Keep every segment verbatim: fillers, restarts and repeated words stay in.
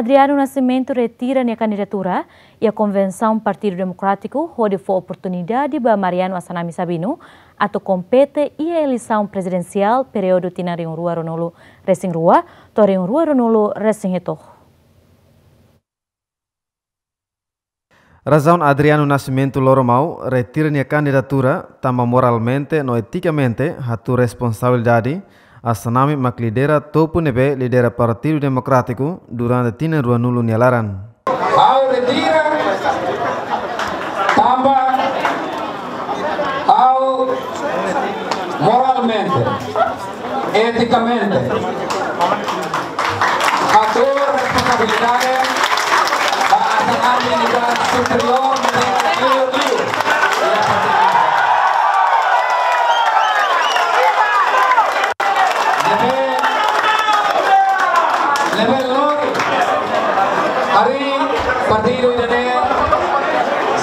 Adriano Nascimento retira nia kandidatura iha konvensaun Partidu Demokrátiku hodi fó oportunidade ba Mariano Assanami Sabino atu kompete iha eleisaun prezidensiál períodu tinan rihun rua ruanulu resin rua to'o rihun rua ruanulu resin hitu. Razaun Adriano Nascimento Loromau retira nia kandidatura tanba moralmente no etikamente hatuur responsabilidade Assanami mak lidera topu ne'ebé lidera Partidu Demokrátiku durante tinan ruanulu nia laran. Ha'u retira tanba ha'u moralmente, etikamente, hatuur responsabilidade ba Assanami nia superiór, nia liu-liu. Ne'ebé, ne'ebé lori harii partidu ida-ne'e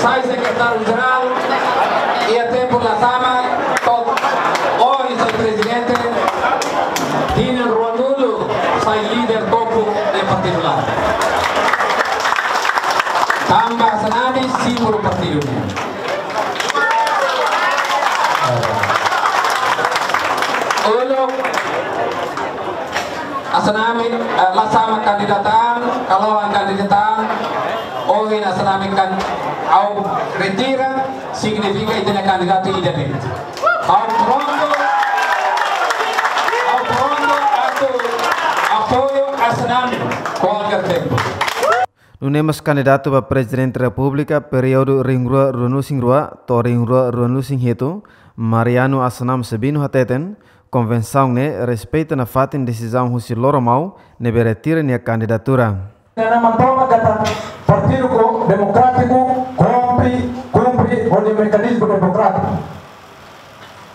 sai sekretáriu jerál iha tempu Lasama, to'o ohin sai prezidente, tinan ruanulu sai líder topu iha partidu laran. Tanba Assanami símbolu partidu nian. Uluk Assanami, eh, Lasama kandidata an, Kalohan kandidata an, ohin Assanami kan, ha'u retira, signifika ita-nia kandidatu ida de'it. Ha'u prontu, ha'u prontu atu apoiu Assanami kualkér tempu. Nune'e mós kandidatu ba Prezidente Repúblika períodu rihun rua ruanulu resin rua to'o rihun rua ruanulu resin hitu, Mariano Assanami Sabino hateten, konvensaun ne'e respeita nafatin desizaun husi Loromau ne'ebé retira nia kandidatura. Nia mantoma katak Partidu ko-, Demokrátiku kumpre, kumpre ho nia mekanizmu demokrátiku.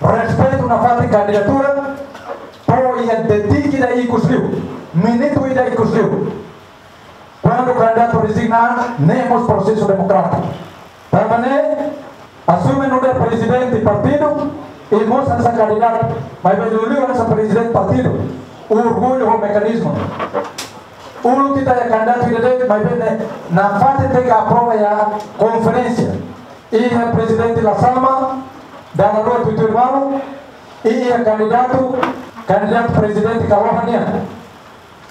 Respeitu nafatin kandidatura, to'o iha detik ida ikus liu, minutu ida ikus liu. Kuandu kandidatu rezigna, ne'e mós prosesu demokrátiku. Tanba ne'e, asume nu'udar prezidente partidu, i mós hanesan kandidatu, maibé liuliu hanesan prezidente partidu, orgullu ho mekanizmu. Uluk ita iha kandidatu ida de'it, maibé ne'e nafatin tenke aprova iha konferénsia. Iha prezidente Lasama, dala rua tuituir malu, i iha kandidatu, kandidatu prezidente Kalohan nian.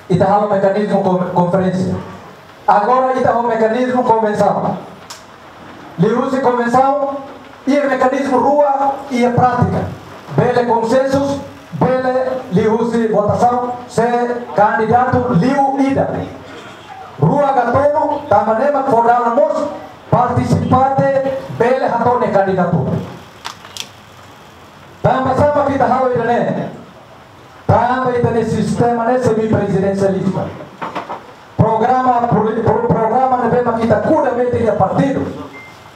Ita halo mekanizmu kon-, konferénsia. Agora ita ho mekanizmu konvensaun. Liuhusi konvensaun, iha mekanizmu rua iha prátika. Bele konsensus, bele liuhusi votasaun, se kandidatu liu ida. Rua ka tolu, tanba ne'e mak fó dalan mós partisipante bele hato'o nia kandidatura. Tanba sá mak ita halo ida-ne'e? Tanba ita-nia sistema ne'e semiprezidensialista. Programa poli-, pro-, programa ne'ebé mak ita kuda metin iha partidu,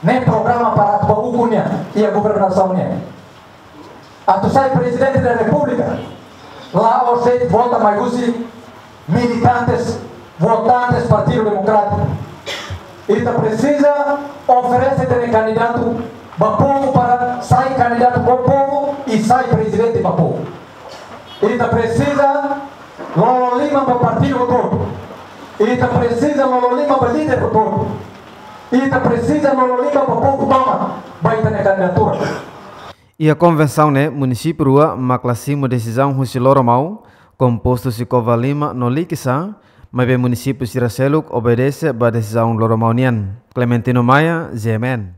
ne'e programa para atu bá ukun nia iha governasaun nian. Atu sai Prezidente da Repúblika, la'ós de'it vota mai husi militantes, votantes Partidu Demokrátiku. Ita presiza oferese ita-nia kandidatu ba povu para sai kandidatu ba povu i sai prezidente ba povu. Ita presiza lolo liman ba partidu hotu-hotu. Ita presiza lolo liman ba líder hotu-hotu. Ita presiza lolo liman ba povu tomak ba ita-nia kandidatura. Iha konvensaun ne'e munisípiu rua mak la simu desizaun husi Loromau, kompostu husi Covalima no Likisá, maibé munisípiu sira seluk obedese ba desizaun Loromau nian. Clementino Maia, G M N.